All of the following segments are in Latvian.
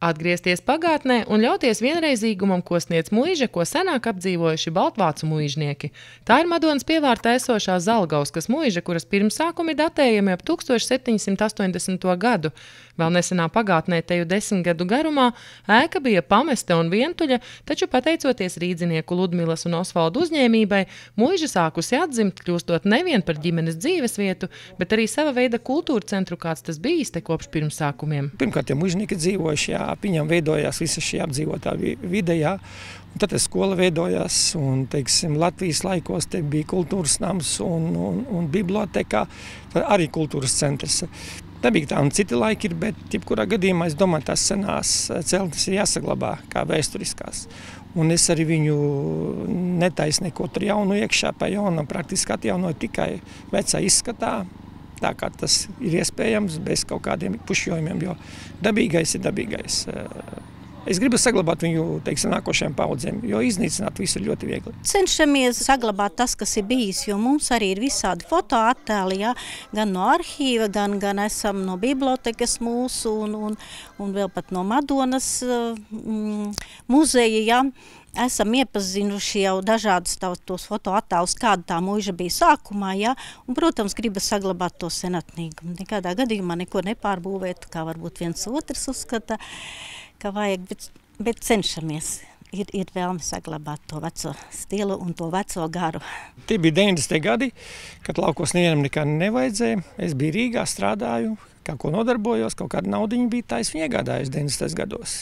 Atgriezties pagātnē un ļauties vienreizīgumam, ko sniedz muiža, ko senāk apdzīvojuši baltvācu muižnieki. Tā ir Madonas pievārtā esošā Zalgauskas muiža, kuras pirmsākumi datējami ap 1780. gadu. Vēl nesenā pagātnē teju 10 gadu garumā ēka bija pamesta un vientuļa, taču pateicoties rīdzinieku Ludmilas un Osvaldu uzņēmībai, muiža sākusi atdzimt, kļūstot nevien par ģimenes dzīvesvietu, bet arī sava veida kultūra centru, kāds tas bijis te kopš pirmsākumiem. Pirmkārt, ja muižnieki dzīvojuši, viņam veidojās visa šī apdzīvotā vide, un tad skola veidojās, un, teiksim, Latvijas laikos te bija kultūras nams un biblioteka, arī kultūras centrs. Nebija tā, un citi laiki ir, bet jebkurā gadījumā, es domāju, tās senās celtnes ir jāsaglabā kā vēsturiskās. Un es arī viņu netaisu neko tur jaunu iekšā, pa jaunam praktiski atjaunoju tikai vecā izskatā, tā kā tas ir iespējams bez kaut kādiem pušķojumiem, jo dabīgais ir dabīgais. Es gribu saglabāt viņu, teiksim, nākošajām paudzēm, jo iznīcināt visu ir ļoti viegli. Cenšamies saglabāt tas, kas ir bijis, jo mums arī ir visādi fotoattēli, gan no arhīva, gan esam no bibliotekas mūsu un vēl pat no Madonas muzeja, Esam iepazinuši jau dažādus tos fotoattēlus, kāda tā muiža bija sākumā, un, protams, gribas saglabāt to senatnīgumu. Nekādā gadījumā neko nepārbūvēt, kā varbūt viens otrs uzskata, ka vajag, bet cenšamies. Ir vēlme saglabāt to veco stilu un to veco garu. Tie bija 90. gadi, kad laukos nevienam nekā nevajadzēja. Es biju Rīgā, strādāju, kā ko nodarbojos, kaut kāda naudiņa bija, tā es viņu iegādājos 90. gados.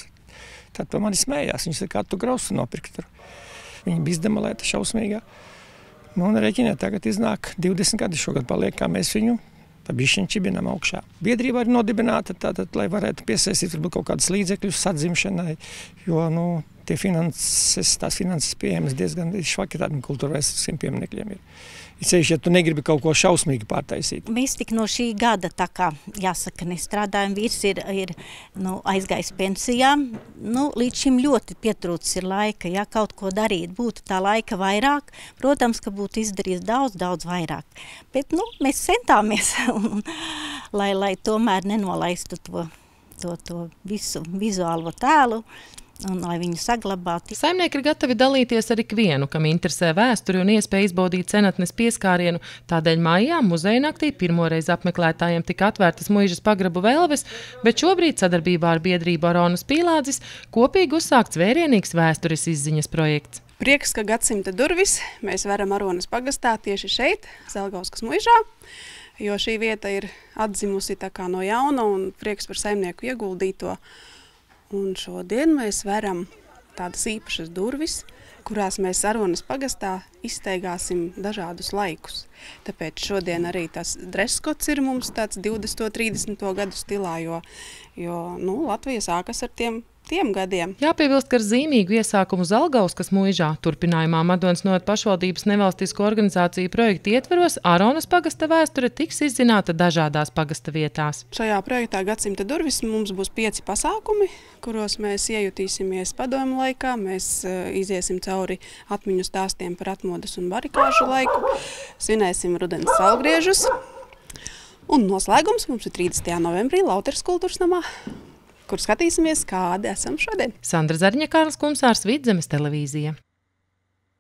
Tad par mani smējās, viņš kā tu grausu nopirkt tur. Viņa bija izdemolēta šausmīgā. Un reķiniet, tagad iznāk 20 gadi šogad paliek, kā mēs viņu pa bišķiņu čibinām augšā. Biedrība ir nodibināta, tātad, lai varētu piesaistīt varbūt kaut kādus līdzekļus sadzimšanai, jo, tās finanses pieejamas diezgan švaki tādiem kultūrvēsturiskiem pieminekļiem ir. Ja tu negribi kaut ko šausmīgi pārtaisīt. Mēs tik no šī gada, tā kā, jāsaka, nestrādājam, vīrs ir aizgājis pensijā. Līdz šim ļoti pietrūcis ir laika, ja kaut ko darīt, būtu tā laika vairāk. Protams, ka būtu izdarījis daudz vairāk. Bet, mēs centāmies, lai tomēr nenolaistu to visu vizuālo tēlu. Un lai viņu saglabātu. Saimnieki ir gatavi dalīties ar ikvienu, kam interesē vēsturi un iespēja izbaudīt senatnes pieskārienu. Tādēļ maijā muzeja naktī pirmoreiz apmeklētājiem tika atvērtas muižas pagrabu velves, bet šobrīd sadarbībā ar biedrību Aronas Pīlādzis kopīgi uzsākts vērienīgs vēstures izziņas projekts. Prieks, ka gadsimta durvis mēs varam Aronas pagastā tieši šeit, Zalgauskas muižā, jo šī vieta ir atzimusi tā kā no jauna un prieks par saimnieku ieguldīto. Un šodien mēs veram tādas īpašas durvis, kurās mēs Aronas pagastā izsteigāsim dažādus laikus. Tāpēc šodien arī tas dreskots ir mums tāds 20. 30. gadu stilā, jo Latvija sākas ar tiem gadiem. Jāpiebilst, ka ar zīmīgu iesākumu Zalgauskas muižā turpinājumā Madonas novada pašvaldības nevalstisko organizāciju projektu ietveros Aronas pagasta vēsture tiks izzināta dažādās pagasta vietās. Šajā projektā Gadsimta durvis mums būs 5 pasākumi, kuros mēs iejutīsimies padomu laikā. Mēs iziesim cauri atmiņu stāstiem par atmodas un barikāžu laiku, svinēsim rudens saulgriežus. Un noslēgums mums ir 30. novembrī Lauteres kultūras namā, kur skatīsimies, kādi esam šodien. Sandra Zarņa, Kārlis Kumsārs, Vidzemes televīzija.